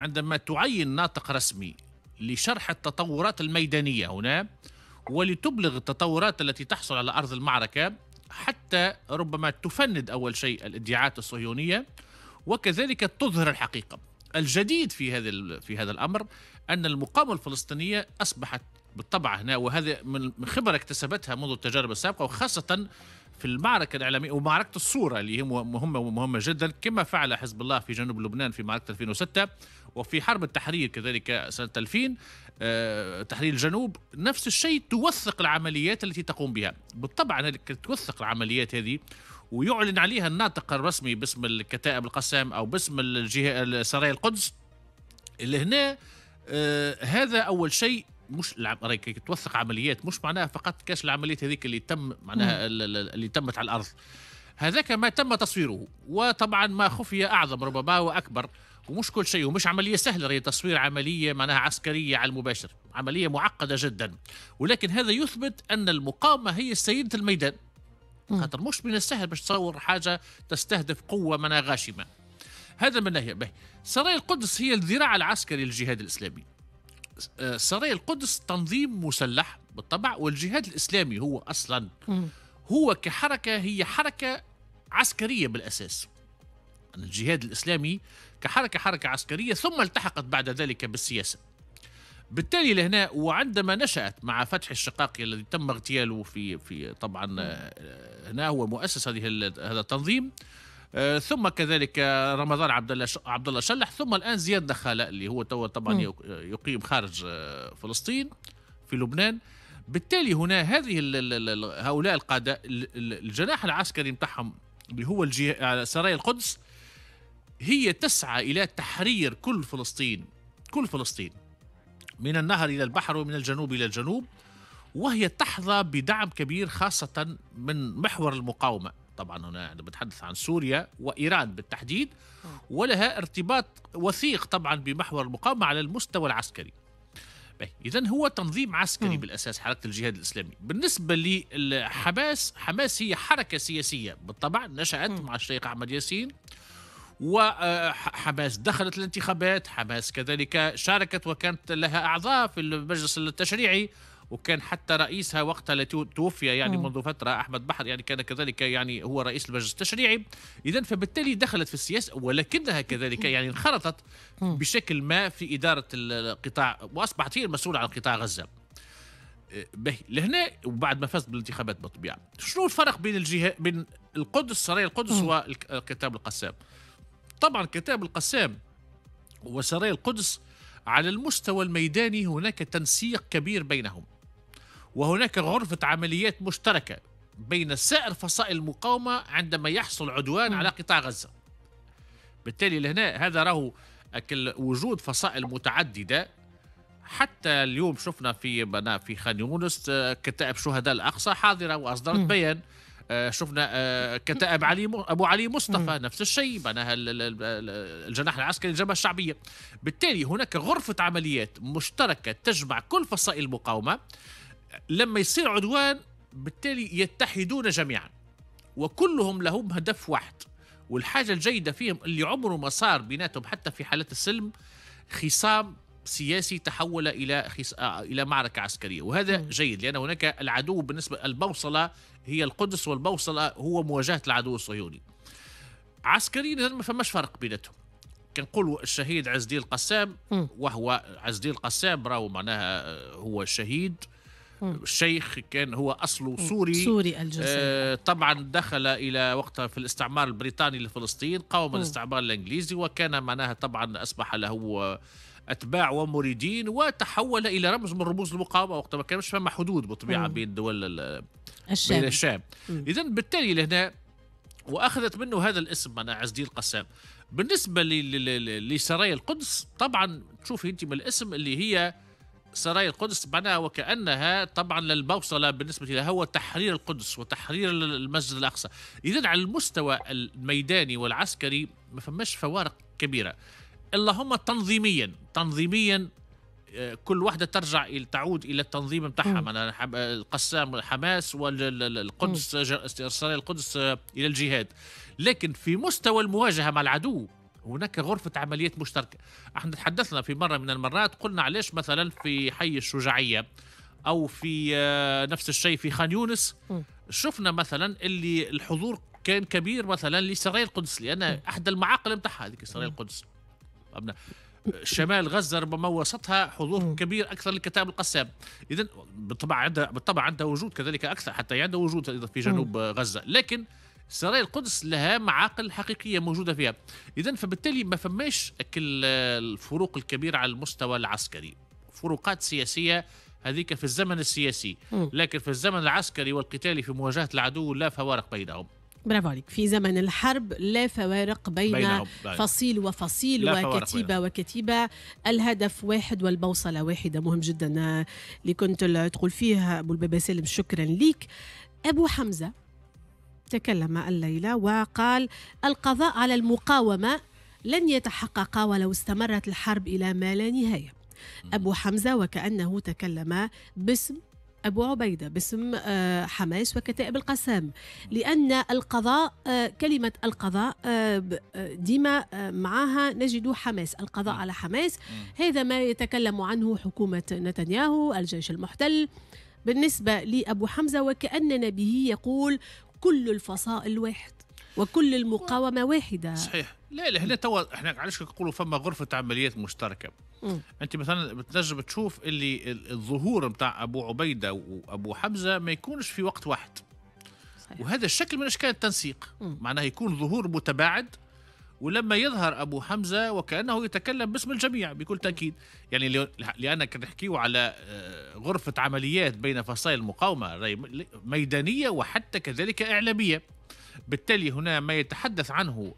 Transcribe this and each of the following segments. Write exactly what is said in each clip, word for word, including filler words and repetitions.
عندما تعين ناطق رسمي لشرح التطورات الميدانية هنا ولتبلغ التطورات التي تحصل على أرض المعركة، حتى ربما تفند أول شيء الادعاءات الصهيونية وكذلك تظهر الحقيقة. الجديد في هذا في هذا الأمر أن المقاومة الفلسطينية أصبحت بالطبع هنا، وهذا من خبرة اكتسبتها منذ التجارب السابقة وخاصة في المعركة الإعلامية ومعركة الصورة اللي هي مهمة ومهمة جدا، كما فعل حزب الله في جنوب لبنان في معركة ألفين وستة وفي حرب التحرير كذلك سنة ألفين، أه تحرير الجنوب. نفس الشيء توثق العمليات التي تقوم بها. بالطبع توثق العمليات هذه ويعلن عليها الناطق الرسمي باسم الكتائب القسام أو باسم الجهة سرايا القدس اللي هنا. آه هذا أول شيء. مش توثق عمليات مش معناها فقط كاش العمليات هذيك اللي تم معناها اللي تمت على الأرض، هذاك ما تم تصويره، وطبعا ما خفي أعظم ربما وأكبر. ومش كل شيء، ومش عملية سهلة هي تصوير عملية معناها عسكرية على المباشر، عملية معقدة جدا، ولكن هذا يثبت أن المقاومة هي سيدة الميدان، خاطر مش من السهل باش تصور حاجة تستهدف قوة معناها غاشمة. هذا من ناحية. به سرايا القدس هي الذراع العسكري للجهاد الإسلامي. سرايا القدس تنظيم مسلح بالطبع، والجهاد الإسلامي هو أصلا هو كحركة هي حركة عسكرية بالأساس. الجهاد الإسلامي كحركة حركة عسكرية ثم التحقت بعد ذلك بالسياسة. بالتالي لهنا وعندما نشأت مع فتح الشقاقي الذي تم اغتياله في في طبعا هنا هو مؤسس هذه هذا التنظيم، ثم كذلك رمضان عبد الله عبد الله شلح، ثم الان زياد نخاله اللي هو تو طبعا يقيم خارج فلسطين في لبنان. بالتالي هنا هذه هؤلاء القادة الجناح العسكري نتاعهم اللي هو سرايا القدس هي تسعى الى تحرير كل فلسطين، كل فلسطين من النهر الى البحر ومن الجنوب الى الجنوب، وهي تحظى بدعم كبير خاصة من محور المقاومة. طبعا هنا بتحدث عن سوريا وإيران بالتحديد، ولها ارتباط وثيق طبعا بمحور المقاومة على المستوى العسكري. إذن هو تنظيم عسكري م. بالأساس حركة الجهاد الإسلامي. بالنسبة لحماس، حماس هي حركة سياسية بالطبع نشأت م. مع الشيخ أحمد ياسين، وحماس دخلت الانتخابات، حماس كذلك شاركت وكانت لها أعضاء في المجلس التشريعي، وكان حتى رئيسها وقتها التي توفي يعني م. منذ فترة أحمد بحر يعني كان كذلك يعني هو رئيس المجلس التشريعي. إذن فبالتالي دخلت في السياسة، ولكنها كذلك يعني انخرطت بشكل ما في إدارة القطاع وأصبحت هي المسؤولة عن قطاع غزة. به لهنا وبعد ما فازت بالانتخابات بالطبيعة. شنو الفرق بين الجهة بين القدس سرايا القدس وكتاب القسام؟ طبعا كتاب القسام وسرايا القدس على المستوى الميداني هناك تنسيق كبير بينهم، وهناك غرفة عمليات مشتركة بين سائر فصائل المقاومة عندما يحصل عدوان م. على قطاع غزة. بالتالي لهنا هذا راهو وجود فصائل متعددة. حتى اليوم شفنا في في خان يونس كتائب شهداء الأقصى حاضرة وأصدرت م. بيان. شفنا كتائب علي أبو علي مصطفى م. نفس الشيء معناها الجناح العسكري للجبهة الشعبية. بالتالي هناك غرفة عمليات مشتركة تجمع كل فصائل المقاومة. لما يصير عدوان بالتالي يتحدون جميعا وكلهم لهم هدف واحد. والحاجة الجيدة فيهم اللي عمره ما صار بيناتهم حتى في حالات السلم خصام سياسي تحول إلى خص... إلى معركة عسكرية، وهذا م. جيد لأن هناك العدو بالنسبة البوصلة هي القدس، والبوصلة هو مواجهة العدو الصهيوني. عسكريا ما فماش فرق بيناتهم. كنقولوا الشهيد عز الدين القسام، وهو عز الدين القسام راهو معناها هو شهيد الشيخ، كان هو أصله سوري سوري الجنسية. آه طبعا دخل إلى وقتها في الاستعمار البريطاني لفلسطين، قاوم الاستعمار الإنجليزي، وكان معناها طبعا أصبح له أتباع ومريدين وتحول إلى رمز من رموز المقاومة وقتها ما كانش فما حدود بالطبيعة بين دول الشام. بين الشام. إذن بالتالي لهنا وأخذت منه هذا الاسم معناها عز الدين القسام. بالنسبة لسرايا القدس طبعا تشوفي أنت من الاسم اللي هي سرايا القدس معناها وكأنها طبعا للبوصلة بالنسبة لها هو تحرير القدس وتحرير المسجد الأقصى. إذن على المستوى الميداني والعسكري ما فماش فوارق كبيرة، اللهم تنظيميا تنظيميا كل واحدة ترجع إلى تعود إلى التنظيم نتاعها، معناها القسام حماس والقدس سرايا القدس إلى الجهاد. لكن في مستوى المواجهة مع العدو هناك غرفة عمليات مشتركة. احنا تحدثنا في مرة من المرات قلنا علاش مثلا في حي الشجاعية أو في نفس الشيء في خان يونس شفنا مثلا اللي الحضور كان كبير مثلا لسرايا القدس، لأن أحد المعاقل متاعها هذيك سرايا القدس. شمال غزة ربما وسطها حضور كبير أكثر لكتائب القسام. إذن بالطبع عندها بالطبع عندها وجود كذلك أكثر، حتى عندها وجود في جنوب غزة، لكن سرايا القدس لها معاقل حقيقية موجودة فيها. إذن فبالتالي ما فماش كل الفروق الكبيرة على المستوى العسكري، فروقات سياسية هذيك في الزمن السياسي، لكن في الزمن العسكري والقتالي في مواجهة العدو لا فوارق بينهم. برافو عليك. في زمن الحرب لا فوارق بين بينهم. فصيل وفصيل وكتيبة وكتيبة، الهدف واحد والبوصلة واحدة. مهم جدا اللي كنت تقول فيه أبو البابا سالم، شكرا ليك. أبو حمزة تكلم الليلة وقال القضاء على المقاومة لن يتحقق ولو استمرت الحرب إلى ما لا نهاية. أبو حمزة وكأنه تكلم باسم أبو عبيدة، باسم حماس وكتائب القسام، لأن القضاء، كلمة القضاء ديما معها نجد حماس، القضاء على حماس. هذا ما يتكلم عنه حكومة نتنياهو، الجيش المحتل. بالنسبة لأبو حمزة وكأننا به يقول كل الفصائل واحد وكل المقاومة واحدة. صحيح. لا لا هنا توا احنا علاش نقولوا فما غرفة عمليات مشتركة. م. انت مثلا بتنجم تشوف اللي الظهور نتاع ابو عبيدة وابو حمزة ما يكونش في وقت واحد. صحيح. وهذا الشكل من اشكال التنسيق، معناه يكون ظهور متباعد، ولما يظهر ابو حمزة وكأنه يتكلم باسم الجميع بكل تأكيد. يعني لأن نحكيو على غرفة عمليات بين فصائل المقاومة ميدانية وحتى كذلك إعلامية. بالتالي هنا ما يتحدث عنه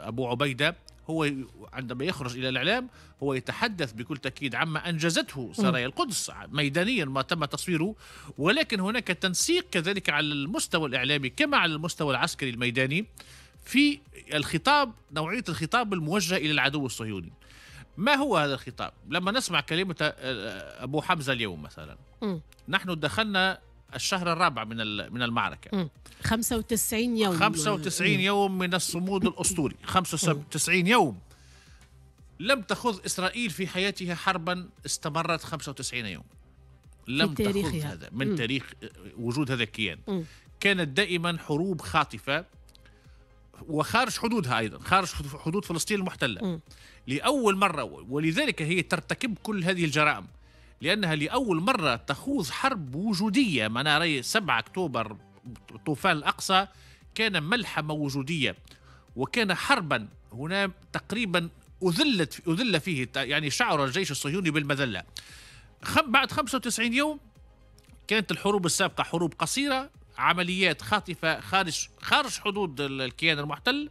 أبو عبيدة هو عندما يخرج إلى الإعلام هو يتحدث بكل تأكيد عما أنجزته سرايا القدس ميدانيا ما تم تصويره، ولكن هناك تنسيق كذلك على المستوى الإعلامي كما على المستوى العسكري الميداني في الخطاب، نوعية الخطاب الموجه إلى العدو الصهيوني. ما هو هذا الخطاب؟ لما نسمع كلمة أبو حمزة اليوم مثلا، م. نحن دخلنا الشهر الرابع من من المعركة، م. خمسة وتسعين يوم، خمسة وتسعين يوم من الصمود الأسطوري، خمسة وتسعين يوم لم تخذ إسرائيل في حياتها حربا استمرت خمسة وتسعين يوم، لم تخذ هذا من م. تاريخ وجود هذا الكيان. م. كانت دائما حروب خاطفة وخارج حدودها أيضا، خارج حدود فلسطين المحتلة. م. لأول مرة، ولذلك هي ترتكب كل هذه الجرائم، لأنها لأول مرة تخوض حرب وجودية. معناها رأي سبعة أكتوبر طوفان الأقصى كان ملحمة وجودية وكان حربا هنا تقريبا أذلت أذل فيه، يعني شعر الجيش الصهيوني بالمذلة. بعد خمسة وتسعين يوم كانت الحروب السابقة حروب قصيرة، عمليات خاطفة خارج خارج حدود الكيان المحتل.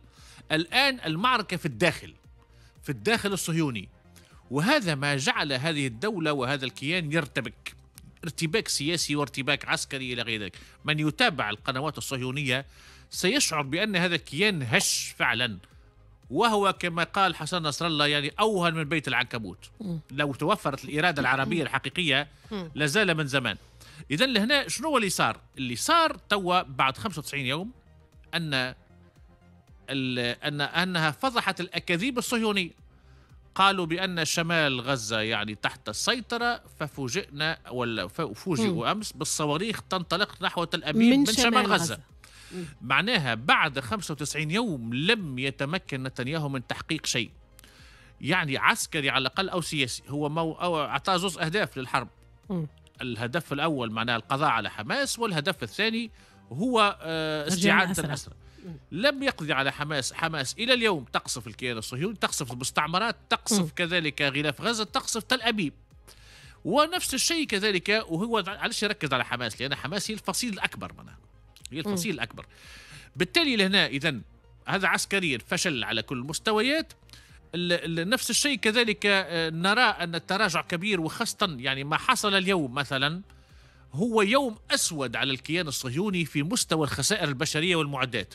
الآن المعركة في الداخل، في الداخل الصهيوني، وهذا ما جعل هذه الدولة وهذا الكيان يرتبك، ارتباك سياسي وارتباك عسكري إلى غير ذلك. من يتابع القنوات الصهيونية سيشعر بأن هذا الكيان هش فعلا، وهو كما قال حسن نصر الله يعني أوهن من بيت العنكبوت. لو توفرت الإرادة العربية الحقيقية لزال من زمان. إذن لهنا شنو اللي صار؟ اللي صار توا بعد خمسة وتسعين يوم أن أن أنها فضحت الأكاذيب الصهيونية. قالوا بأن شمال غزة يعني تحت السيطرة، ففوجئنا ولا فوجئوا أمس بالصواريخ تنطلق نحو تل أبيب من, من شمال, شمال غزة, غزة. معناها بعد خمسة وتسعين يوم لم يتمكن نتنياهو من تحقيق شيء، يعني عسكري على الأقل أو سياسي. هو مو أو أعطى زوج أهداف للحرب. م. الهدف الأول معناه القضاء على حماس، والهدف الثاني هو استعادة الأسرى. لم يقضي على حماس. حماس إلى اليوم تقصف الكيان الصهيوني، تقصف المستعمرات، تقصف م. كذلك غلاف غزة، تقصف تل أبيب. ونفس الشيء كذلك، وهو علاش يركز على حماس؟ لأن حماس هي الفصيل الأكبر، معناها هي الفصيل م. الأكبر. بالتالي لهنا إذن هذا عسكريا فشل على كل المستويات. نفس الشيء كذلك نرى أن التراجع كبير، وخاصة يعني ما حصل اليوم مثلا هو يوم أسود على الكيان الصهيوني في مستوى الخسائر البشرية والمعدات.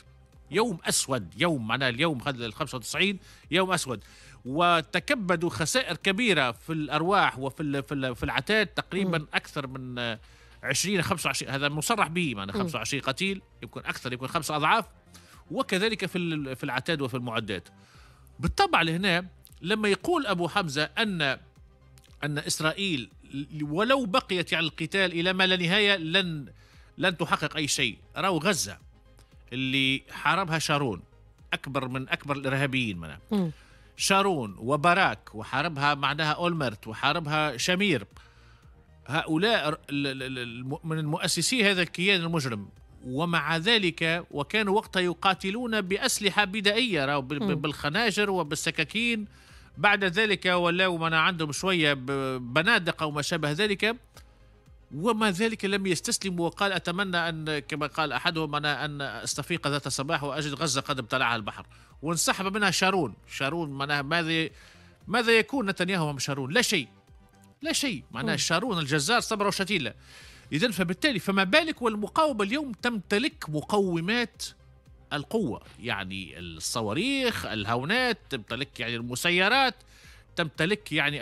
يوم أسود، يوم معناه اليوم هذا ال خمسة وتسعين يوم أسود، وتكبدوا خسائر كبيرة في الأرواح وفي في العتاد، تقريبا أكثر من عشرين خمسة وعشرين، هذا مصرح به، معناه خمسة وعشرين قتيل، يمكن أكثر، يمكن خمسة أضعاف، وكذلك في في العتاد وفي المعدات. بالطبع لهنا لما يقول أبو حمزة أن أن إسرائيل ولو بقيت على القتال إلى ما لا نهاية لن لن تحقق أي شيء، راو غزة اللي حاربها شارون أكبر من أكبر الإرهابيين منها م. شارون وباراك، وحاربها معناها أولمرت، وحاربها شامير، هؤلاء من المؤسسي هذا الكيان المجرم، ومع ذلك وكانوا وقتها يقاتلون بأسلحة بدائية بالخناجر وبالسكاكين. بعد ذلك ولاو من عندهم شوية بنادق أو ما شابه ذلك، وما ذلك لم يستسلموا. وقال أتمنى أن كما قال أحدهم أنا أن أستفيق ذات صباح وأجد غزة قد ابتلعها البحر، وانسحب منها شارون. شارون معناها ماذا ماذا يكون نتنياهو أم شارون؟ لا شيء، لا شيء. معناها شارون الجزار صبر وشتيلة. إذن فبالتالي فما بالك والمقاومة اليوم تمتلك مقومات القوة، يعني الصواريخ، الهونات، تمتلك يعني المسيرات، تمتلك يعني